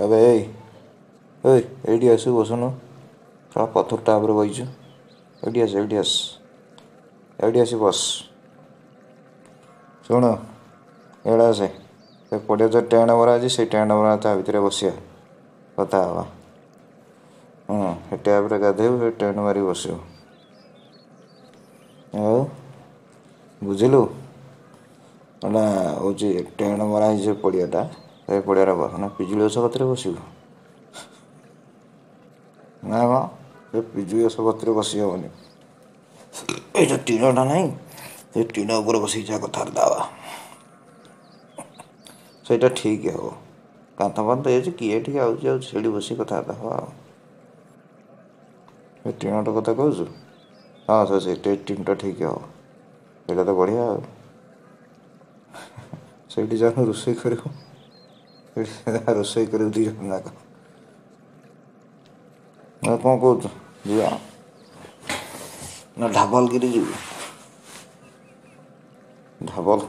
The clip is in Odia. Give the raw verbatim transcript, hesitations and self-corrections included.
ଆବେ ଏଇ ଏଇ ଏଇଠି ଆସିବୁ, ବସୁନୁ। ଶଳା ପଥରଟା ଉପରେ ବଇଛୁ। ଏଇଠି ଆସ, ଏଇଠି ଆସ, ଏଇଠି ଆସି ବସ। ଶୁଣ, ଏଇଟା ଆସେ। ସେ ପଡ଼ିଆ ଯେଉଁ ଟେଣ୍ଟ ମରା ଅଛି, ସେଇ ଟେଣ୍ଟ ମରା ତା ଭିତରେ ବସିବା, କଥା ହେବା। ହଁ, ସେ ଟ୍ୟାପ୍ରେ ଗାଧେଇବୁ, ସେ ଟେଣ୍ଟ ମାରିକି ବସିବୁ। ଆଉ ବୁଝିଲୁ, ଏଇଟା ହେଉଛି ଟେଣ୍ଟ ମରା ହେଇଛି ସେ ପଡ଼ିଆଟା, ସେ ପଡ଼ିଆରେ ବସ ନା ପିଜୁଳି ଗଛ କତିରେ ବସିବୁ? ନା ମ, ସେ ପିଜୁଳି ଗଛ କତିରେ ବସି ହେବନି। ଏଇ ଯେଉଁ ଟିଣଟା ନାହିଁ, ସେ ଟିଣ ଉପରେ ବସିକି ଯାହା କଥାବାର୍ତ୍ତା ହେବା, ସେଇଟା ଠିକ୍ ହେବ। କାନ୍ଥ ଫାନ୍ଥ ହେଇଛି, କିଏ ଏଠିକି ଆଉଛି ଯାଉଛି? ସେଇଠି ବସିକି କଥାବାର୍ତ୍ତା ହେବା। ଆଉ ଏ ଟିଣଟା କଥା କହୁଛୁ? ହଁ, ସେ ସେଇଟା ଟିଣଟା ଠିକ୍ ହେବ। ସେଇଟା ତ ବଢ଼ିଆ। ଆଉ ସେଇଠି ଯାହା ରୋଷେଇ କରିବୁ, ସେଇଠି ରୋଷେଇ କରିବୁ ଦୁଇ ଜଣ ଯାକ। ଆଉ କ'ଣ କହୁଛୁ, ଯିବା ନା ଢାବଲଗିରି ଯିବୁ? ଢାବଲ